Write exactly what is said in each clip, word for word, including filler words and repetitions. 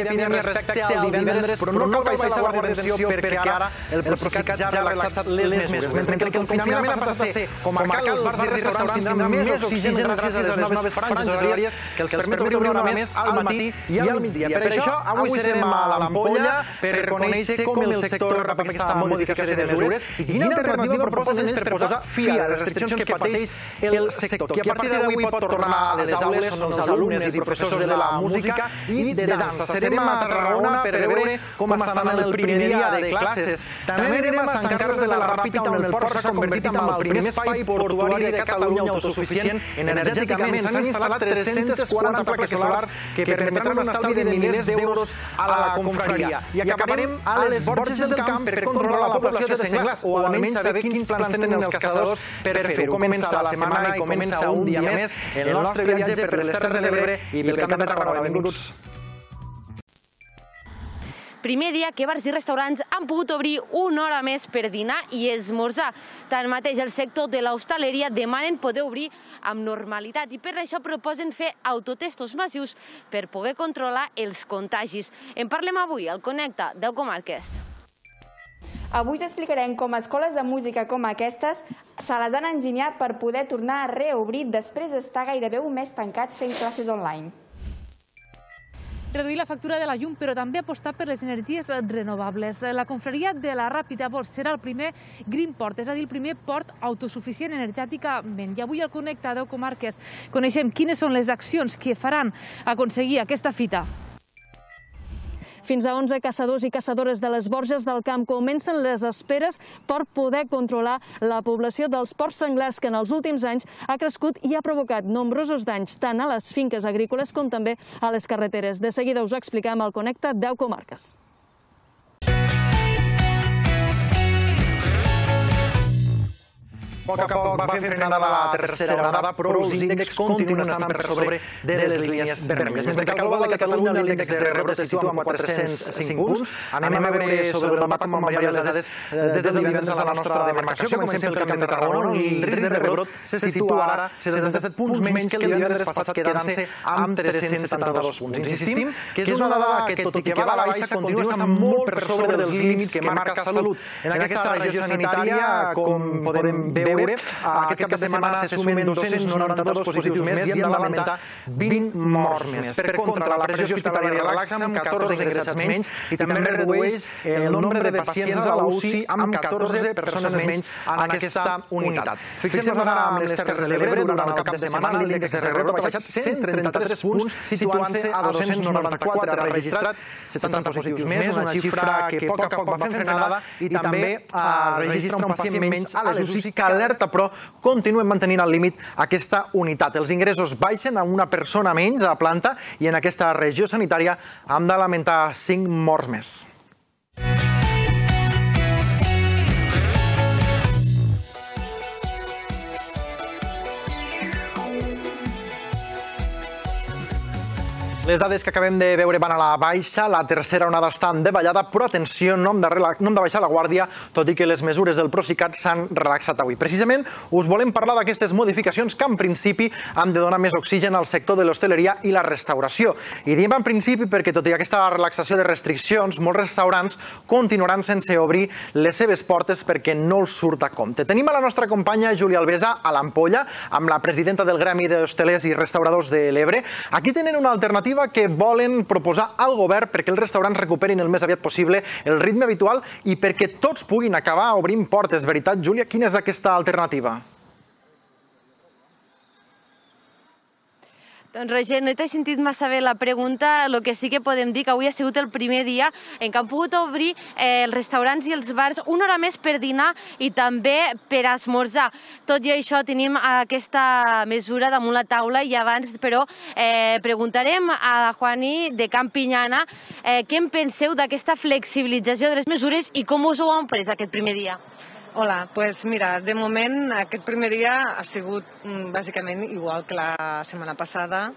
d'epidèmia respecte al divendres, però no cal baixar la guàrdia d'atenció perquè ara el Procicat ja ha relaxat les mesures. Mentre que el confinament ha passat a ser comarcal, els bars i restaurants tindran més oxigen gràcies a les noves franges horàries que els permet obrir una hora més al matí i al migdia. Per això, avui serem a l'Ampolla per conèixer com el sector rep aquesta modificació de mesures i quina alternativa proposen ells per posar fi a les restriccions que pateix el sector, que a partir d'avui pot tornar a les aules on els alumnes i professors de la música i de dansa. Serem a Tarragona per veure com estan en el primer dia de classes. També anirem a Sant Carles de la Ràpita, on el port s'ha convertit en el primer espai portuari de Catalunya autosuficient energèticament. S'han instal·lat tres-centes quaranta plaques solars que permetran un estalvi de milers d'euros a la confraria. I acabarem a les Borges del Camp per controlar la població de senglars, o almenys saber quins plans tenen els caçadors per fer-ho. Comença la setmana i comença un dia més el nostre viatge per les Terres de l'Ebre i pel Camp de Tarragona. Benvinguts. Primer dia que bars i restaurants han pogut obrir una hora més per dinar i esmorzar. Tanmateix, el sector de l'hostaleria demanen poder obrir amb normalitat i per això proposen fer autotestos massius per poder controlar els contagis. En parlem avui al Connecta deu Comarques. Avui us explicarem com escoles de música com aquestes se les han enginyat per poder tornar a reobrir després d'estar gairebé un mes tancats fent classes online. Reduir la factura de la llum, però també apostar per les energies renovables. La confraria de la Ràpita serà el primer Green Port, és a dir, el primer port autosuficient energèticament. I avui al Connecta deu Comarques coneixem quines són les accions que faran aconseguir aquesta fita. Fins a onze caçadors i caçadores de les Borges del Camp comencen les esperes per poder controlar la població dels porcs senglars que en els últims anys ha crescut i ha provocat nombrosos danys tant a les finques agrícoles com també a les carreteres. De seguida us ho expliquem al Connecta deu Comarques. A poc a poc va fer frenada la tercera onada, però els índexs continuen estant per sobre de les línies vermelles. Mentre que al global de Catalunya l'índex de rebrot se situa en quatre-cents cinc punts. Anem a veure sobre el mapa com van variar les dades des del divendres a la nostra demarcació. Comencem pel Camp de Tarragona, on el risc de rebrot se situa ara setanta-set punts menys que el divendres passat, quedant-se amb tres-cents setanta-dos punts. Insistim que és una dada que, tot i que va a la baixa, continua estant molt per sobre dels límits que marca Salut. En aquesta regió sanitària, com podem veure, aquest cap de setmana se sumen dos-cents noranta-dos positius més i hem de lamentar vint morts més. Per contra, la pressió hospitalària relaxa amb catorze ingressats menys i també redueix el nombre de pacients a la U C I amb catorze persones menys en aquesta unitat. Fixem-nos ara amb les Terres de l'Ebre. Durant el cap de setmana l'índex de rebrot ha baixat cent trenta-tres punts, situant-se a dos-cents noranta-quatre. Ha registrat setanta positius més, una xifra que a poc a poc va fent frenada i també registra un pacient menys a les U C I que alerta, però continuen mantenint al límit aquesta unitat. Els ingressos baixen a una persona menys a planta i en aquesta regió sanitària hem de lamentar cinc morts més. Les dades que acabem de veure van a la baixa, la tercera onada està en davallada, però atenció, no hem de, no hem de baixar la guàrdia, tot i que les mesures del Procicat s'han relaxat avui. Precisament us volem parlar d'aquestes modificacions que en principi han de donar més oxigen al sector de l'hostaleria i la restauració. I diem en principi perquè tot i aquesta relaxació de restriccions, molts restaurants continuaran sense obrir les seves portes perquè no els surt a compte. Tenim a la nostra companya Júlia Albesa a l'Ampolla, amb la presidenta del Gremi d'Hostalers i Restauradors de l'Ebre. Aquí tenen una alternativa que volen proposar al govern perquè els restaurants recuperin el més aviat possible el ritme habitual i perquè tots puguin acabar obrint portes. Veritat, Júlia, quina és aquesta alternativa? Doncs Roger, no t'he sentit massa bé la pregunta. El que sí que podem dir que avui ha sigut el primer dia en què han pogut obrir els restaurants i els bars una hora més per dinar i també per esmorzar. Tot i això tenim aquesta mesura damunt la taula i abans, però, preguntarem a la Juani de Campinyana què en penseu d'aquesta flexibilització de les mesures i com us ho han pres aquest primer dia. Hola, doncs mira, de moment aquest primer dia ha sigut bàsicament igual que la setmana passada.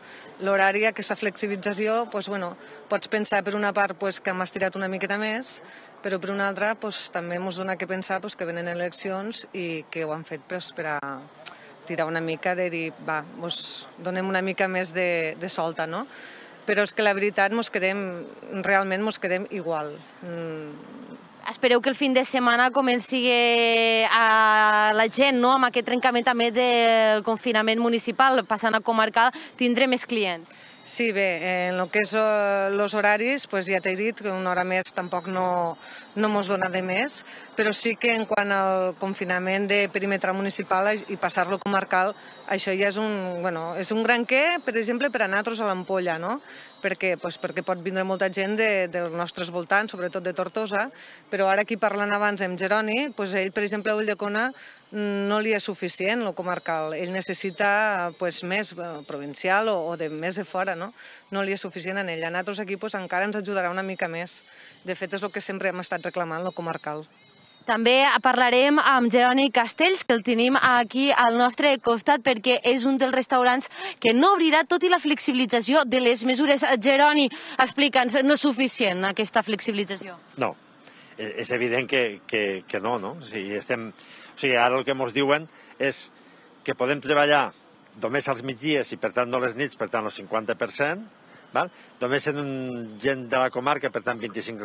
L'horari, aquesta flexibilització, doncs, bueno, pots pensar per una part doncs, que hem estirat una miqueta més, però per una altra doncs, també ens dona que pensar doncs, que venen eleccions i que ho han fet doncs, per a tirar una mica de dir, va, doncs, donem una mica més de, de solta, no? però és que la veritat mos quedem, realment mos quedem igual. Mm. Espereu que el fin de setmana comenci a la gent, no?, amb aquest trencament també del confinament municipal, passant a comarcal, tindre més clients. Sí, bé, en el que és els horaris, ja t'he dit que una hora més tampoc no mos dona de més, però sí que en quant al confinament de perímetre municipal i passar-lo comarcal, això ja és un gran què, per exemple, per a nosaltres a l'Ampolla, no? Perquè pot vindre molta gent dels nostres voltants, sobretot de Tortosa, però ara aquí parlant abans amb Jeroni, ell, per exemple, a Ulldecona no li és suficient el comarcal, ell necessita més provincial o més de fora, no li és suficient en ell. A nosaltres aquí encara ens ajudarà una mica més. De fet, és el que sempre hem estat reclamant, el comarcal. També parlarem amb Jeroni Castells, que el tenim aquí al nostre costat, perquè és un dels restaurants que no obrirà, tot i la flexibilització de les mesures. Jeroni, explica'ns, no és suficient aquesta flexibilització? No, és evident que no, no? O sigui, ara el que ens diuen és que podem treballar només als migdies i, per tant, no les nits, per tant, el cinquanta per cent, només en gent de la comarca, per tant, vint-i-cinc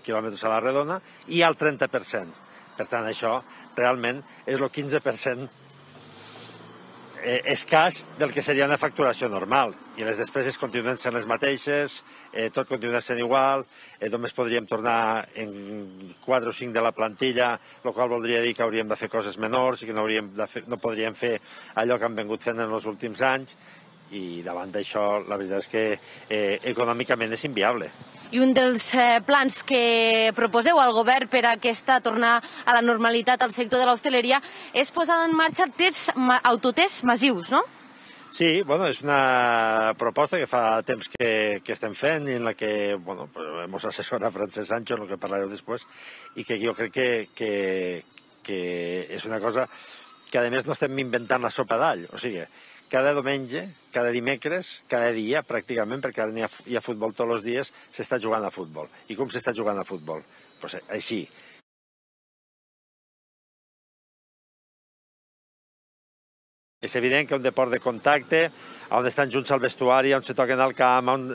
quilòmetres a la redona, i al trenta per cent. Per tant, això realment és el quinze per cent escàs del que seria una facturació normal. I les despeses continuen sent les mateixes, tot continua sent igual, només podríem tornar en quatre o cinc de la plantilla, el qual voldria dir que hauríem de fer coses menors i que no podríem fer allò que hem vingut fent en els últims anys, i davant d'això la veritat és que econòmicament és inviable. I un dels plans que proposeu al govern per a aquesta tornar a la normalitat al sector de l'hostaleria és posar en marxa autotests massius, no? Sí, bueno, és una proposta que fa temps que estem fent i en la que ens assessora Francesc Sancho, en el que parlareu després, i que jo crec que és una cosa que a més no estem inventant la sopa d'all, o sigui, cada diumenge, cada dimecres, cada dia, pràcticament, perquè ara hi ha futbol tots els dies, s'està jugant a futbol. I com s'està jugant a futbol? Doncs així. És evident que un deport de contacte, on estan junts al vestuari, on se toquen al camp, on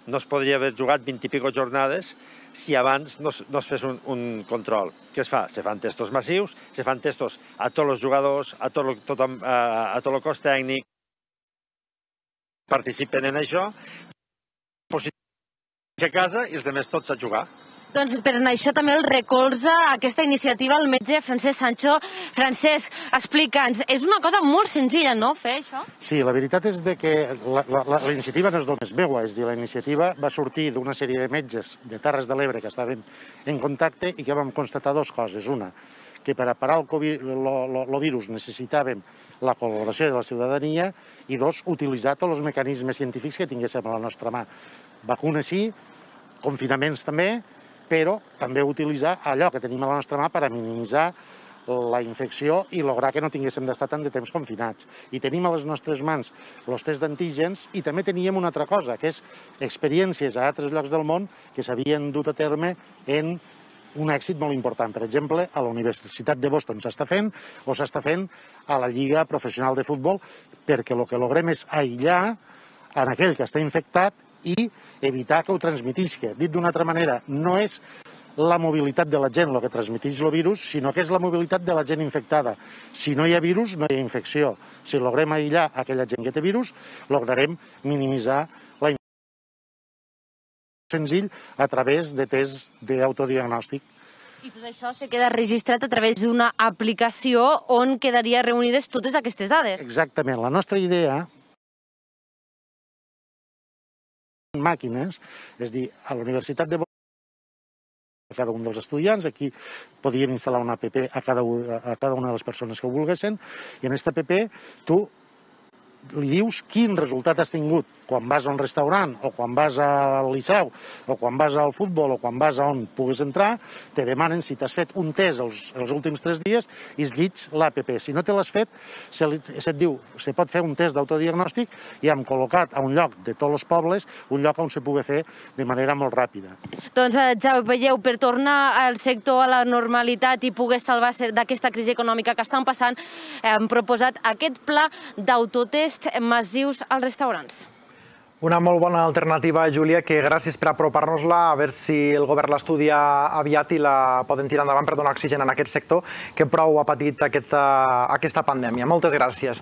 no es podria haver jugat vint i pico jornades si abans no es fes un control. Què es fa? Se fan testos massius, se fan testos a tots els jugadors, a tot el cos tècnic, participen en això, positius a casa i els altres tots a jugar. Doncs per això també el recolza aquesta iniciativa el metge Francesc Sancho. Francesc, explica'ns, és una cosa molt senzilla, no?, fer això? Sí, la veritat és que la iniciativa no és només meua, és a dir, la iniciativa va sortir d'una sèrie de metges de Terres de l'Ebre que estaven en contacte i que vam constatar dues coses. Una, que per a parar el virus necessitàvem la col·laboració de la ciutadania i dos, utilitzar tots els mecanismes científics que tinguéssim a la nostra mà. Vacunes sí, confinaments també, però també utilitzar allò que tenim a la nostra mà per a minimitzar la infecció i lograr que no tinguéssim d'estar tant de temps confinats. I tenim a les nostres mans els tests d'antígens i també teníem una altra cosa, que és experiències a altres llocs del món que s'havien dut a terme en un èxit molt important. Per exemple, a la Universitat de Boston s'està fent o s'està fent a la Lliga Professional de Futbol, perquè el que logrem és aïllar en aquell que està infectat i evitar que ho transmetisca. Dit d'una altra manera, no és la mobilitat de la gent el que transmeteix el virus, sinó que és la mobilitat de la gent infectada. Si no hi ha virus, no hi ha infecció. Si logrem aïllar aquella gent que té virus, lograrem minimitzar la infecció senzill a través de tests d'autodiagnòstic. I tot això se queda registrat a través d'una aplicació on quedaria reunides totes aquestes dades. Exactament. La nostra idea màquines, és a dir, a la Universitat de Boston, a cada un dels estudiants, aquí podíem instal·lar una app a cada una de les persones que ho volguessin, i en aquesta app tu li dius quin resultat has tingut quan vas a un restaurant, o quan vas al liceu, o quan vas al futbol, o quan vas a on puguis entrar, te demanen si t'has fet un test els últims tres dies i es llits l'app. Si no te l'has fet, se't diu, se pot fer un test d'autodiagnòstic i hem col·locat a un lloc de tots els pobles, un lloc on se pugui fer de manera molt ràpida. Doncs ja ho veieu, per tornar al sector a la normalitat i poder salvar-se d'aquesta crisi econòmica que estan passant, hem proposat aquest pla d'autotest massius als restaurants. Una molt bona alternativa, Júlia, que gràcies per apropar-nos-la, a veure si el govern l'estudia aviat i la poden tirar endavant per donar oxigen en aquest sector que prou ha patit aquesta pandèmia. Moltes gràcies.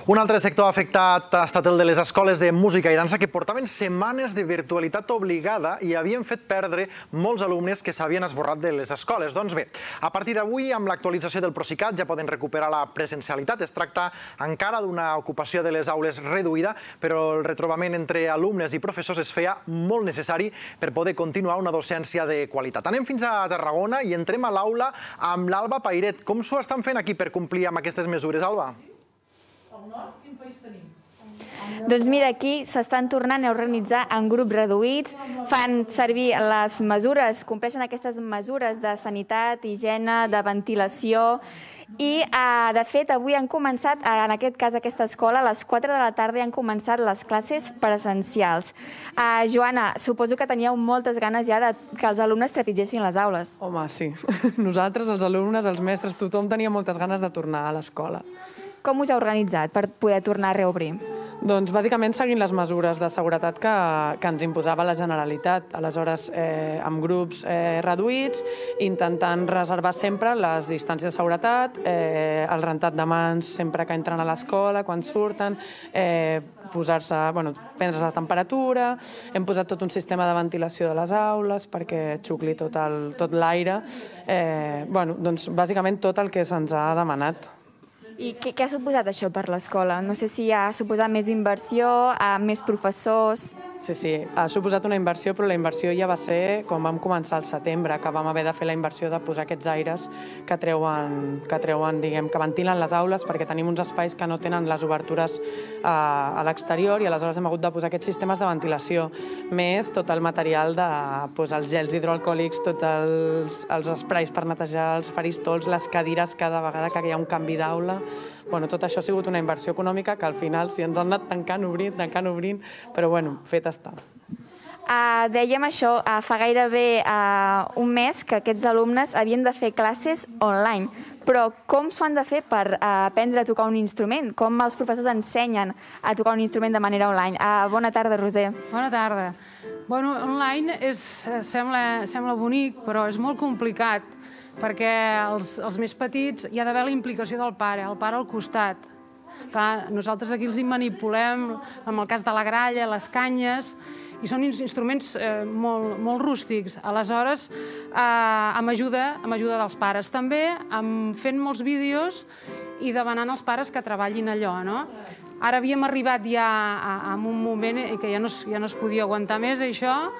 Un altre sector afectat ha estat el de les escoles de música i dansa, que portaven setmanes de virtualitat obligada i havien fet perdre molts alumnes que s'havien esborrat de les escoles. Doncs bé, a partir d'avui, amb l'actualització del Procicat, ja poden recuperar la presencialitat. Es tracta encara d'una ocupació de les aules reduïda, però el retrobament entre alumnes i professors es feia molt necessari per poder continuar una docència de qualitat. Anem fins a Tarragona i entrem a l'aula amb l'Alba Pairet. Com s'ho estan fent aquí per complir amb aquestes mesures, Alba? Al nord, quin país tenim? Doncs mira, aquí s'estan tornant a organitzar en grups reduïts, fan servir les mesures, compleixen aquestes mesures de sanitat, higiene, de ventilació i, de fet, avui han començat, en aquest cas, aquesta escola, a les quatre de la tarda han començat les classes presencials. Joana, suposo que teníeu moltes ganes ja que els alumnes trepitgessin les aules. Home, sí. Nosaltres, els alumnes, els mestres, tothom tenia moltes ganes de tornar a l'escola. Com us heu organitzat per poder tornar a reobrir? Doncs bàsicament seguint les mesures de seguretat que, que ens imposava la Generalitat. Aleshores, eh, amb grups eh, reduïts, intentant reservar sempre les distàncies de seguretat, eh, el rentat de mans sempre que entren a l'escola, quan surten, eh, posar-se, bueno, prendre's la temperatura, hem posat tot un sistema de ventilació de les aules perquè xucli tot el, tot l'aire. Eh, bueno, doncs bàsicament tot el que se'ns ha demanat. I què, què ha suposat això per l'escola? No sé si ha suposat més inversió, més professors... Sí, sí, ha suposat una inversió, però la inversió ja va ser quan vam començar al setembre, que vam haver de fer la inversió de posar aquests aires que treuen, que treuen, diguem, que ventilen les aules, perquè tenim uns espais que no tenen les obertures a, a l'exterior i aleshores hem hagut de posar aquests sistemes de ventilació, més tot el material de posar els gels hidroalcohòlics, tots els, els esprais per netejar els faristols, les cadires cada vegada que hi ha un canvi d'aula. Bueno, tot això ha sigut una inversió econòmica que al final si ens han anat tancant, obrint, tancant, obrint, però bueno, fet està. Uh, dèiem això, uh, fa gairebé uh, un mes que aquests alumnes havien de fer classes online, però com s'ho han de fer per uh, aprendre a tocar un instrument? Com els professors ensenyen a tocar un instrument de manera online? Uh, bona tarda, Roser. Bona tarda. Bueno, online és, sembla, sembla bonic, però és molt complicat, perquè els, els més petits hi ha d'haver la implicació del pare, el pare al costat. Clar, nosaltres aquí els hi manipulem, amb el cas de la gralla, les canyes, i són instruments eh, molt, molt rústics. Aleshores, eh, amb, ajuda, amb ajuda dels pares. També amb, fent molts vídeos i demanant als pares que treballin allò, no? Ara havíem arribat ja a, a un moment que ja no, ja no es podia aguantar més, això,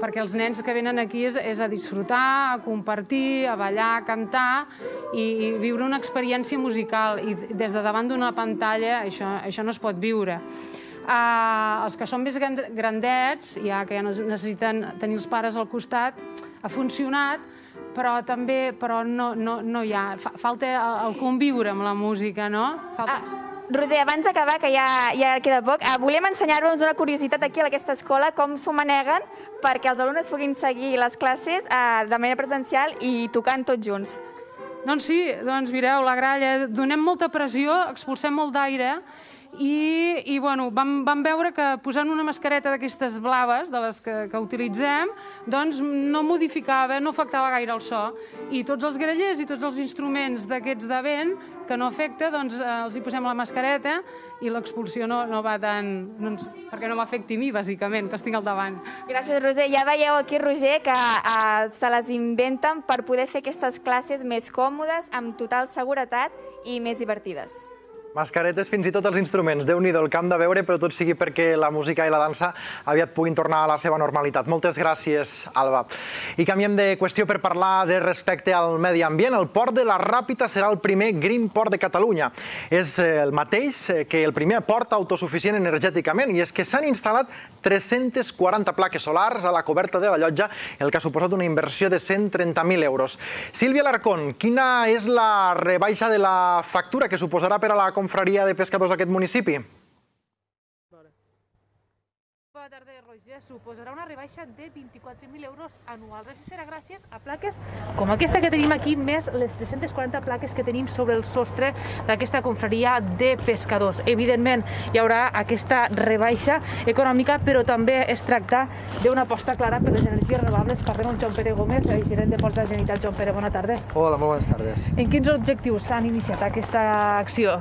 perquè els nens que venen aquí és, és a disfrutar, a compartir, a ballar, a cantar i, i viure una experiència musical. I des de davant d'una pantalla això, això no es pot viure. Uh, els que són més grandets, ja que ja no necessiten tenir els pares al costat, ha funcionat, però també però no, no, no hi ha. Falta el, el conviure amb la música, no? Falta... Ah. Roser, abans d'acabar, que ja, ja queda poc, eh, volem ensenyar-vos una curiositat aquí a aquesta escola, com s'ho maneguen perquè els alumnes puguin seguir les classes eh, de manera presencial i tocant tots junts. Doncs sí, doncs mireu, la gralla, donem molta pressió, expulsem molt d'aire i, i bueno, vam, vam veure que posant una mascareta d'aquestes blaves, de les que, que utilitzem, doncs no modificava, no afectava gaire el so. I tots els grallers i tots els instruments d'aquests de vent que no afecta, doncs eh, els hi posem la mascareta i l'expulsió no, no va tant... Doncs, perquè no m'afecti a mi, bàsicament, que els tinc al davant. Gràcies, Roser. Ja veieu aquí, Roger, que eh, se les inventen per poder fer aquestes classes més còmodes, amb total seguretat i més divertides. Mascaretes, fins i tot els instruments. Déu-n'hi-do el camp de veure, però tot sigui perquè la música i la dansa aviat puguin tornar a la seva normalitat. Moltes gràcies, Alba. I canviem de qüestió per parlar de respecte al medi ambient. El port de la Ràpita serà el primer Green Port de Catalunya. És el mateix que el primer port autosuficient energèticament, i és que s'han instal·lat tres-centes quaranta plaques solars a la coberta de la llotja, el que ha suposat una inversió de cent trenta mil euros. Sílvia Larcón, quina és la rebaixa de la factura que suposarà per a la confraria de pescadors d'aquest municipi? Bona tarda, Roger. Suposarà una rebaixa de vint-i-quatre mil euros anuals. Això serà gràcies a plaques com aquesta que tenim aquí, més les tres-centes quaranta plaques que tenim sobre el sostre d'aquesta confraria de pescadors. Evidentment, hi haurà aquesta rebaixa econòmica, però també es tracta d'una aposta clara per les energies renovables. Parlem amb Joan Pere Gómez, gerent de Ports de la Generalitat. Joan Pere, bona tarda. Hola, molt bones tardes. En quins objectius s'han iniciat aquesta acció?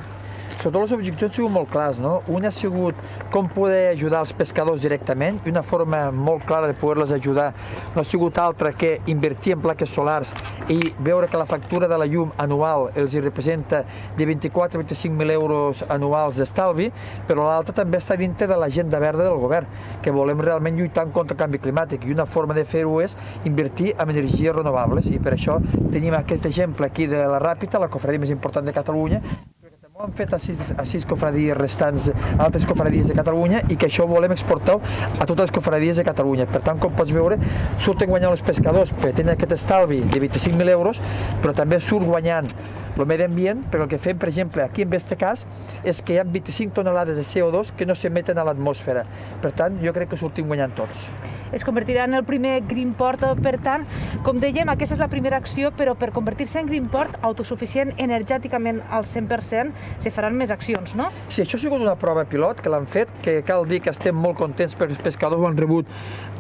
Sobretot els objectius han sigut molt clars, no? Un ha sigut com poder ajudar els pescadors directament, i una forma molt clara de poder-los ajudar no ha sigut altra que invertir en plaques solars i veure que la factura de la llum anual els representa de vint-i-quatre a vint-i-cinc mil euros anuals d'estalvi, però l'altra també està dintre de l'agenda verda del govern, que volem realment lluitar contra el canvi climàtic, i una forma de fer-ho és invertir en energies renovables, i per això tenim aquest exemple aquí de la Ràpita, la cofradia més important de Catalunya. Ho hem fet a sis, a sis cofradies restants, a altres cofradies de Catalunya, i que això volem exportar a totes les cofradies de Catalunya. Per tant, com pots veure, surten guanyant els pescadors perquè tenen aquest estalvi de vint-i-cinc mil euros, però també surt guanyant el medi ambient, perquè el que fem, per exemple, aquí en aquest cas, és que hi ha vint-i-cinc tonelades de C O dos que no s'emeten a l'atmosfera. Per tant, jo crec que sortim guanyant tots. Es convertirà en el primer Greenport, per tant, com dèiem, aquesta és la primera acció, però per convertir-se en Greenport autosuficient energèticament al cent per cent, se faran més accions, no? Sí, això ha sigut una prova pilot que l'han fet, que cal dir que estem molt contents perquè els pescadors ho han rebut,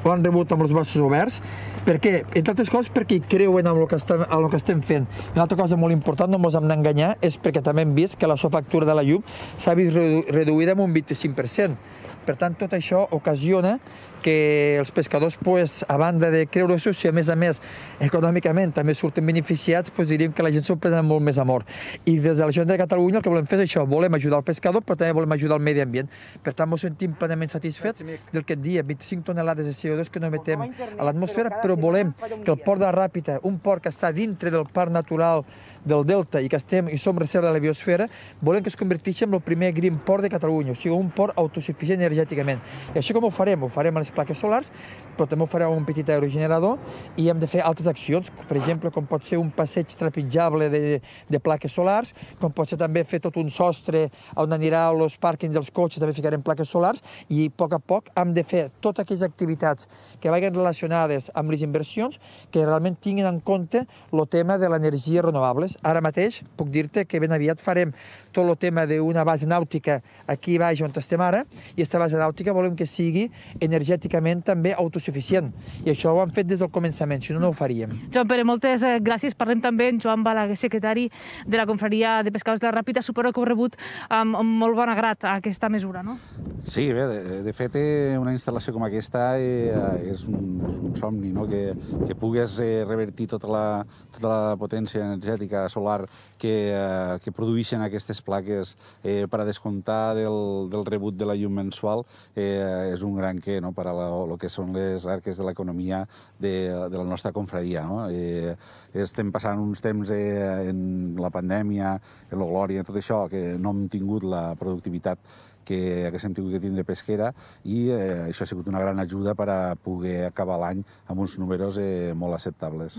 ho han rebut amb els braços oberts. Per què? Entre altres coses perquè hi creuen en el que estem, en el que estem fent. Una altra cosa molt important, no ens hem d'enganyar, és perquè també hem vist que la factura de la llum s'ha vist reduïda en un vint-i-cinc per cent. Per tant, tot això ocasiona que els pescadors, a banda de creure-s'ho, si a més a més econòmicament també surten beneficiats, diríem que la gent s'ho prenen molt més amor. I des de la Generalitat de Catalunya el que volem fer és això, volem ajudar el pescador, però també volem ajudar el medi ambient. Per tant, ens sentim plenament satisfets del que et dia vint-i-cinc tonelades de C O dos que no emetem a l'atmosfera, però volem que el port de Ràpita, un port que està dintre del parc natural del Delta i que estem i som reserva de la biosfera, volem que es converteixi en el primer Green Port de Catalunya, o sigui, un port autosuficient energèticament. I això com ho farem? Ho farem a les plaques solars, però també ho farem un petit aerogenerador, i hem de fer altres accions, per exemple, com pot ser un passeig trepitjable de, de plaques solars, com pot ser també fer tot un sostre on anirà els pàrquings dels cotxes, també ficarem plaques solars, i a poc a poc hem de fer totes aquelles activitats que vagin relacionades amb les inversions que realment tinguin en compte el tema de l'energia renovables. Ara mateix puc dir-te que ben aviat farem tot el tema d'una base nàutica aquí baix on estem ara, i aquesta base nàutica volem que sigui energèticament també autosuficient, i això ho hem fet des del començament, si no, no ho faríem. Joan Pere, moltes gràcies. Parlem també amb Joan Balaguer, secretari de la Confraria de Pescadors de la Ràpita. Suposo que heu rebut amb molt bon agrat aquesta mesura, no? Sí, bé, de, de fet, una instal·lació com aquesta eh, és, un, és un somni, no? que, que pugues eh, revertir tota la, tota la potència energètica solar que, eh, que produeixen aquestes plaques eh, per a descomptar del, del rebut de la llum mensual, eh, és un gran què, no? per a el que són les arques de l'economia de, de la nostra confraria. No? Eh, estem passant uns temps eh, en la pandèmia, en la glòria, en tot això, que no hem tingut la productivitat que haguéssim tingut que tindre pesquera, i eh, això ha sigut una gran ajuda per a poder acabar l'any amb uns números eh, molt acceptables.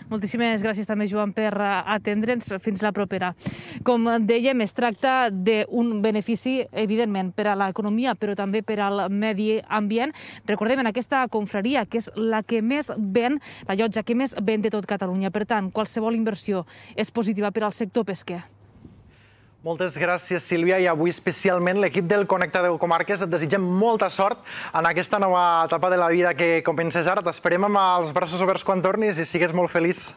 Moltíssimes gràcies també, Joan, per atendre'ns. Fins la propera. Com dèiem, es tracta d'un benefici, evidentment, per a l'economia, però també per al medi ambient. Recordem, en aquesta confraria, que és la que més ven, la llotja que més ven de tot Catalunya. Per tant, qualsevol inversió és positiva per al sector pesquer. Moltes gràcies, Sílvia, i avui especialment l'equip del Connecta deu Comarques et desitgem molta sort en aquesta nova etapa de la vida que comences ara. T'esperem amb els braços oberts quan tornis i sigues molt feliç.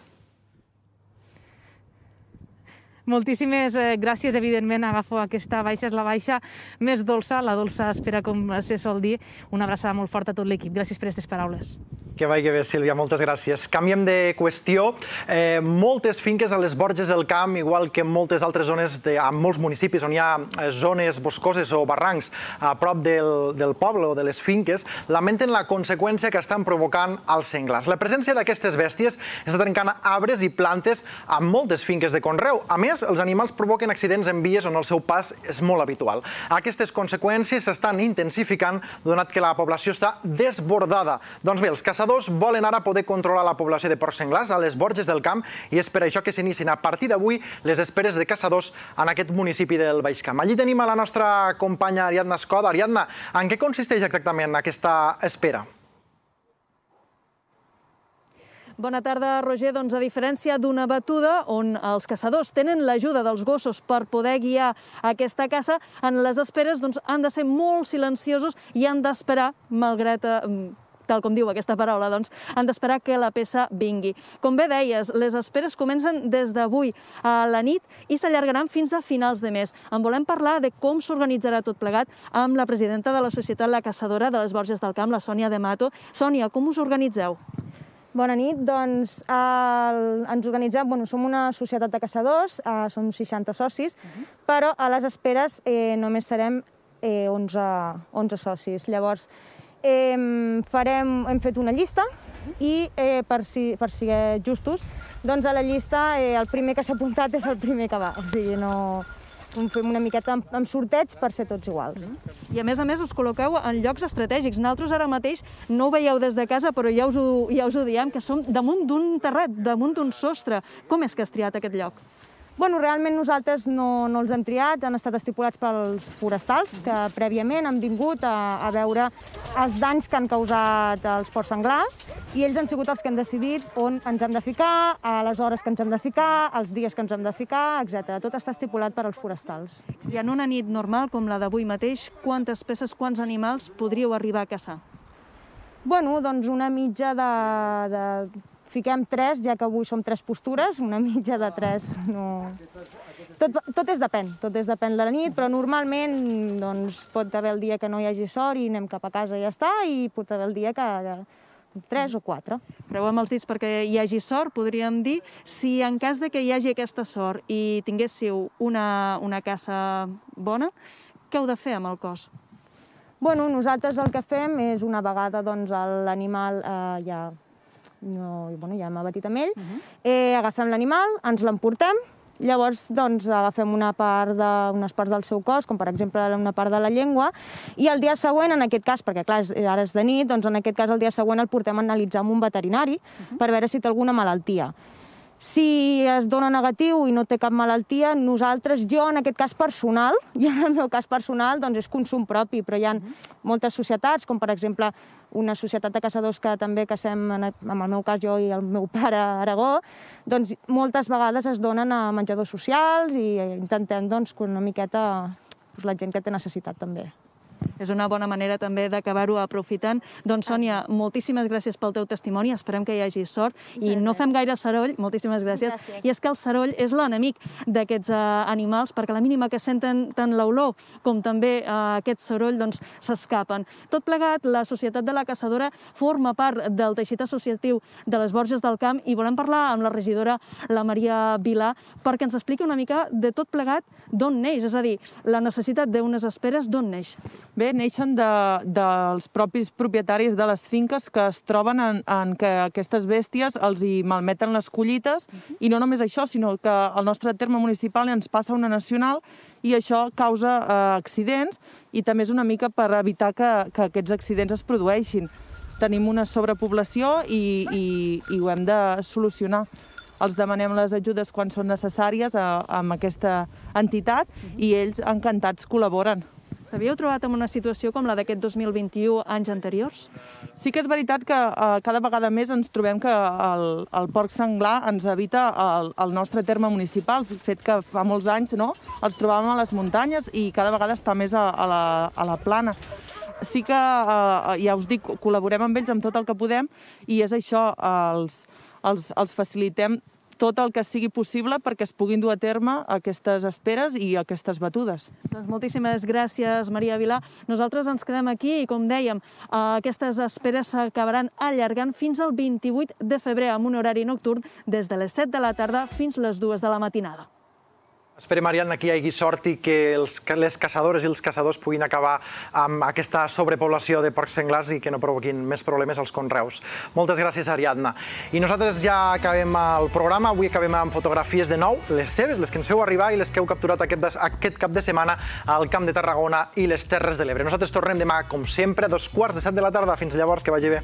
Moltíssimes gràcies, evidentment, agafo aquesta baixa, és la baixa més dolça, la dolça espera, com se sol dir. Una abraçada molt forta a tot l'equip. Gràcies per aquestes paraules. Que vagi bé, Sílvia, moltes gràcies. Canviem de qüestió. Eh, moltes finques a les borges del camp, igual que en moltes altres zones, de, en molts municipis on hi ha zones boscoses o barrancs a prop del, del poble o de les finques, lamenten la conseqüència que estan provocant els senglars. La presència d'aquestes bèsties està trencant arbres i plantes a moltes finques de conreu. A més, els animals provoquen accidents en vies on el seu pas és molt habitual. Aquestes conseqüències s'estan intensificant donat que la població està desbordada. Doncs bé, els caçadors caçadors volen ara poder controlar la població de porcs senglars a les Borges del Camp i és per això que s'inicien a partir d'avui les esperes de caçadors en aquest municipi del Baix Camp. Allí tenim a la nostra companya Ariadna Escoda. Ariadna, en què consisteix exactament aquesta espera? Bona tarda, Roger. Doncs a diferència d'una batuda on els caçadors tenen l'ajuda dels gossos per poder guiar aquesta caça, en les esperes han de ser molt silenciosos i han d'esperar, malgrat, tal com diu aquesta paraula, doncs han d'esperar que la peça vingui. Com bé deies, les esperes comencen des d'avui a la nit i s'allargaran fins a finals de mes. En volem parlar de com s'organitzarà tot plegat amb la presidenta de la Societat La Caçadora de les Borges del Camp, la Sònia de Mato. Sònia, com us organitzeu? Bona nit, doncs ens organitzem, bueno, som una societat de caçadors, som seixanta socis, però a les esperes només serem onze socis. Llavors, farem, hem fet una llista i per ser justos, doncs a la llista el primer que s'ha apuntat és el primer que va, o sigui, no... fem una miqueta amb sorteig per ser tots iguals. I a més a més us col·loqueu en llocs estratègics. Nosaltres ara mateix no ho veieu des de casa, però ja us ho diem, que som damunt d'un terrat, damunt d'un sostre. Com és que has triat aquest lloc? Bueno, realment nosaltres no els hem triat, han estat estipulats pels forestals, que prèviament han vingut a veure els danys que han causat els porcs senglars i ells han sigut els que han decidit on ens hem de ficar, a les hores que ens hem de ficar, els dies que ens hem de ficar, etcètera. Tot està estipulat per als forestals. I en una nit normal, com la d'avui mateix, quantes peces, quants animals podríeu arribar a caçar? Bueno, doncs una mitja de... Fiquem tres, ja que avui som tres postures, una mitja de tres. Tot és depèn, tot és depèn de la nit, però normalment pot haver el dia que no hi hagi sort i anem cap a casa i ja està, i pot haver el dia que tres o quatre. Preu amb els dits perquè hi hagi sort, podríem dir. Si en cas que hi hagi aquesta sort i tinguéssiu una caça bona, què heu de fer amb el cos? Bueno, nosaltres el que fem és una vegada l'animal ja... ja hem abatit amb ell, agafem l'animal, ens l'emportem, llavors agafem unes parts del seu cos, com per exemple una part de la llengua, i el dia següent, en aquest cas, perquè clar, ara és de nit, doncs en aquest cas el dia següent el portem a analitzar amb un veterinari per veure si té alguna malaltia. Si es dona negatiu i no té cap malaltia, nosaltres, jo en aquest cas personal, jo en el meu cas personal, doncs és consum propi, però hi ha moltes societats, com per exemple una societat de caçadors que també cacem, en el meu cas jo i el meu pare a Aragó, doncs moltes vegades es donen a menjadors socials i intentem doncs que una miqueta la gent que té necessitat també. És una bona manera també d'acabar-ho aprofitant. Doncs, Sònia, moltíssimes gràcies pel teu testimoni, esperem que hi hagi sort i no fem gaire soroll, moltíssimes gràcies. I és que el soroll és l'enemic d'aquests animals, perquè a la mínima que senten tant l'olor com també aquest soroll s'escapen. Tot plegat, la Societat de la Caçadora forma part del teixit associatiu de les Borges del Camp i volem parlar amb la regidora, la Maria Vilà, perquè ens expliqui una mica de tot plegat d'on neix, és a dir, la necessitat d'unes esperes d'on neix. Bé, neixen dels propis propietaris de les finques que es troben en que aquestes bèsties els hi malmeten les collites i no només això, sinó que al nostre terme municipal ens passa una nacional i això causa accidents i també és una mica per evitar que aquests accidents es produeixin. Tenim una sobrepoblació i ho hem de solucionar. Els demanem les ajudes quan són necessàries amb aquesta entitat i ells encantats col·laboren. S'havíeu trobat en una situació com la d'aquest dos mil vint-i-u anys anteriors? Sí que és veritat que cada vegada més ens trobem que el porc senglar ens evita el nostre terme municipal, fet que fa molts anys els trobàvem a les muntanyes i cada vegada està més a la plana. Sí que, ja us dic, col·laborem amb ells amb tot el que podem i és això, els facilitem tot el que sigui possible perquè es puguin dur a terme aquestes esperes i aquestes batudes. Doncs moltíssimes gràcies, Maria Vilà. Nosaltres ens quedem aquí i, com dèiem, aquestes esperes s'acabaran allargant fins al vint-i-vuit de febrer amb un horari nocturn des de les set de la tarda fins les dues de la matinada. Esperem, Ariadna, que hi hagi sort i que les caçadores i els caçadors puguin acabar amb aquesta sobrepoblació de porcs senglars i que no provoquin més problemes als conreus. Moltes gràcies, Ariadna. I nosaltres ja acabem el programa. Avui acabem amb fotografies de nou, les seves, les que ens feu arribar i les que heu capturat aquest cap de setmana al Camp de Tarragona i les Terres de l'Ebre. Nosaltres tornem demà, com sempre, a dos quarts de set de la tarda. Fins llavors, que vagi bé.